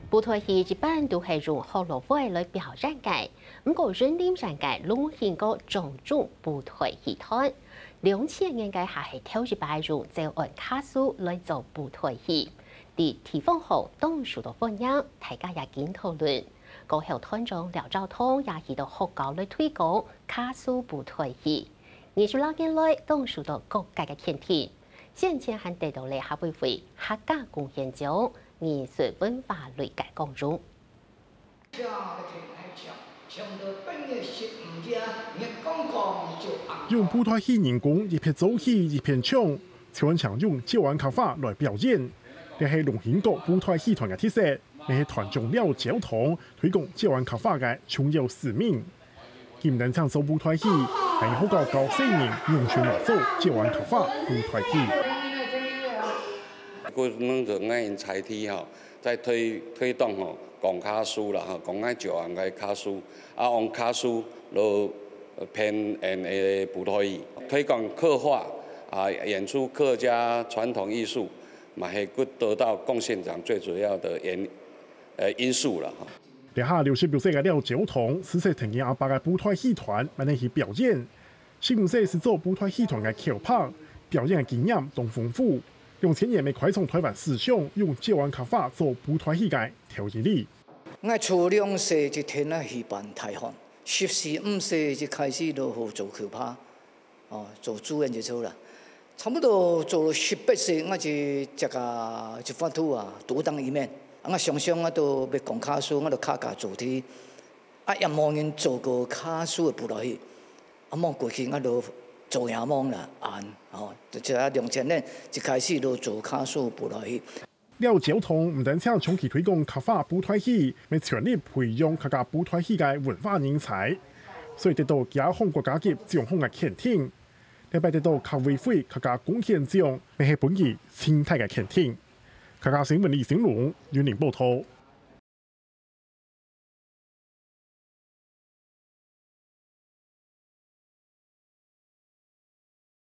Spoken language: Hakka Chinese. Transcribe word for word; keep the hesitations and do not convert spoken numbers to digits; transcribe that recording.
布袋戲一般都係用學老會來表演个，毋過雲林縣个龍興國掌中布袋戲團，兩千年个下係頭一擺用詔安客事來做布袋戲，佇地方學堂受到歡迎，大家也緊討論。過後團長廖昭通也去到學校來推廣客事布袋戲。二十六年來，當受到各界个肯定，先前還得到了客委會客家貢獻獎、藝術文化類个光榮。 用布袋戲人工一片做戲一片唱，就安像用詔安客話來表演。這係龍興國布袋戲團个特色，也係團長廖昭通推廣詔安客話个重要使命。佢毋單淨做布袋戲，還好教教細人用全來做詔安客話布袋戲。 𠊎等个𠊎个在地吼，在推推動吼，講客事啦吼，講𠊎詔安个客事，啊，用客事來編演个布袋戲，推廣客話啊，演出客家傳統藝術，嘛係得到貢獻獎最主要的原呃因素了哈。這下六十六歲个廖昭通，自細跈佢阿爸个布袋戲團，慢慢去表演。 十五歲時做布袋戲團个口白，表演个經驗當豐富。兩千年乜開創臺灣史上用詔安客話做布袋戲个頭一例。𠊎初兩歲就跈啊戲班大漢，十四五歲就開始落去做口白，哦，做主演就做啦。差不多做到十八歲，𠊎就接啊一幅圖啊，獨當一面。啊，𠊎常常啊都愛講客事，𠊎就客家主題。 啊，也無人做過客事个布袋戲，啊，望過去𠊎就做也望啦，恁，吼，就係兩千年一開始就做客事布袋戲。廖昭通毋單淨長期推廣客話布袋戲，乜全力培養客家布袋戲个文化人才，所以得到幾項國家級獎項个肯定。這擺得到客委會客家貢獻獎，乜係分佢盡大个肯定。客家新聞李成龍，雲林報導。